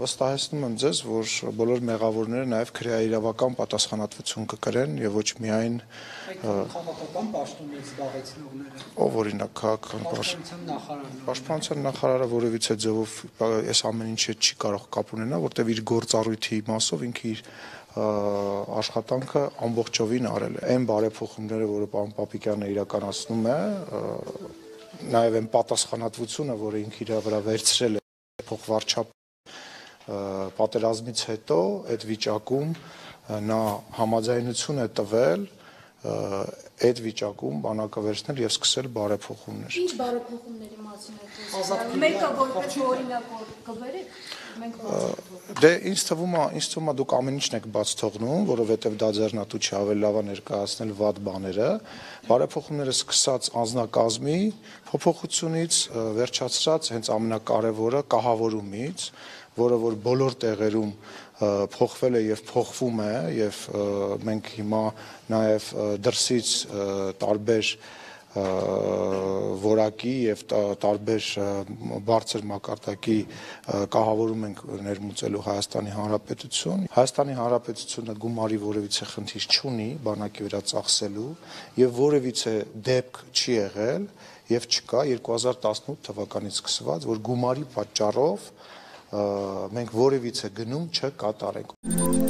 Վստահեցնում եմ ձեզ, որ բոլոր մեղավորները նաև քրեաիրավական պատասխանատվություն կկրեն եւ ոչ միայն քաղաքական պաշտոններ զբաղեցնողները։ Ով օրինակ Պաշտպանության նախարարը որևիցե ձևով այս ամեն ինչը չի կարող կապ ունենալ, որտեղ իր գործառույթի իմաստով ինքը իր աշխատանքը ամբողջովին արել է։ Այն բարեփոխումները, որը պարոն Պապիկյանը իրականացնում է, նաև այն պատասխանատվությունը, որը ինքը իր վրա վերցրել է փոխվարչապետ պատերազմից հետո այդ վիճակում նա համաձայնություն է տվել այդ վիճակում բանակը վերցնել եւ սկսել բարեփոխումներ։ Ինչ բարեփոխումների մասին է խոսքը։ Մեկը որպես օրինակ կբերեք, մենք Դե ինձ թվում է դուք ամեն ինչն եք բաց թողնում, որովհետեւ դա ձեռնատու չի, ավելի լավ է ներկայացնել վատ բաները։ Բարեփոխումները սկսած անձնակազմի փոփոխությունից վերջացրած հենց ամենակարևորը կահավորումից, որը որ բոլոր տեղերում փոխվել է եւ փոխվում է եւ մենք հիմա նաեւ դրսից տարբեր որակի եւ տարբեր բարձր մակարդակի կահավորում ենք ներմուծելու Հայաստանի Հանրապետություն։ Հայաստանի Հանրապետությունը գումարի որևիցե խնդիր չունի բանակի վրա ծախսելու եւ որևիցե դեպք չի եղել եւ չկա 2018 թվականից սկսված, որ գումարի պատճառով մենք որևիցե գնում չկատարենք։